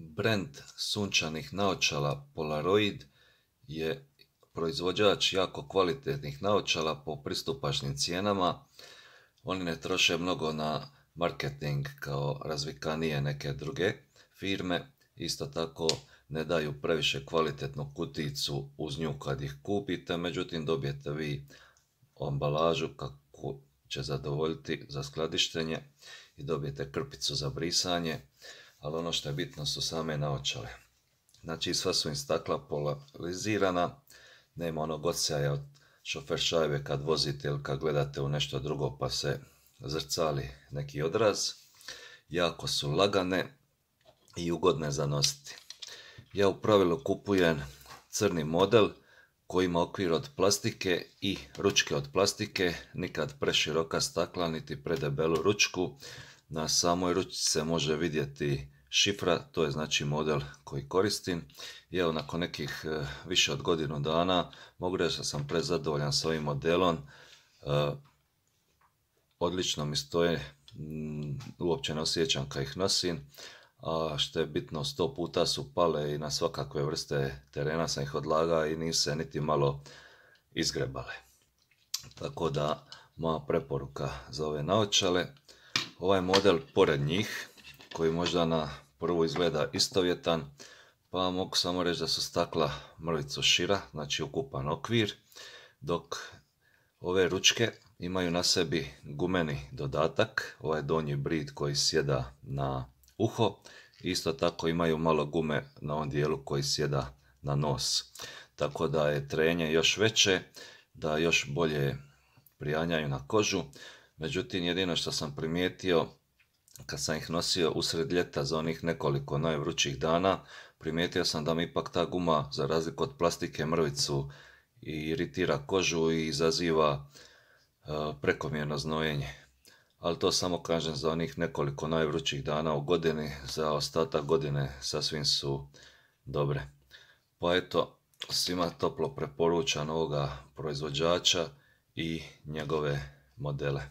Brand sunčanih naočala Polaroid je proizvođač jako kvalitetnih naočala po pristupačnim cijenama. Oni ne troše mnogo na marketing kao razvikanije neke druge firme. Isto tako ne daju previše kvalitetnu kuticu uz nju kad ih kupite, međutim dobijete vi ambalažu kako će zadovoljiti za skladištenje i dobijete krpicu za brisanje, ali ono što je bitno su same naočale. Znači sva su im stakla polarizirana, nema onog odsjaja od šofer šajbe kad vozite ili kad gledate u nešto drugo pa se zrcali neki odraz. Jako su lagane i ugodne za nositi. Ja u pravilu kupujem crni model koji ima okvir od plastike i ručke od plastike, nikad preširoka stakla niti predebelu ručku. Na samoj ručci se može vidjeti šifra, to je znači model koji koristim. I evo nakon nekih više od godinu dana mogu reći da sam prezadovoljan s ovim modelom. Odlično mi stoje, uopće ne osjećam kad ih nosim. A što je bitno, 100 puta su pale i na svakakve vrste terena sam ih odlagao i nisu se niti malo izgrebale. Tako da moja preporuka za ove naočale. Ovaj model pored njih, koji možda na prvu izgleda istovjetan, pa mogu samo reći da su stakla mrvicu šira, znači ukupan okvir, dok ove ručke imaju na sebi gumeni dodatak, ovaj donji brid koji sjeda na uho, isto tako imaju malo gume na ovom dijelu koji sjeda na nos. Tako da je trenje još veće, da još bolje prijanjaju na kožu. Međutim, jedino što sam primijetio kad sam ih nosio usred ljeta za onih nekoliko najvrućih dana, primijetio sam da mi ipak ta guma, za razliku od plastike, mrvicu iritira kožu i izaziva prekomjerno znojenje. Ali to samo kažem za onih nekoliko najvrućih dana u godini, za ostatak godine sasvim su dobre. Pa eto, svima toplo preporučam ovoga proizvođača i njegove modele.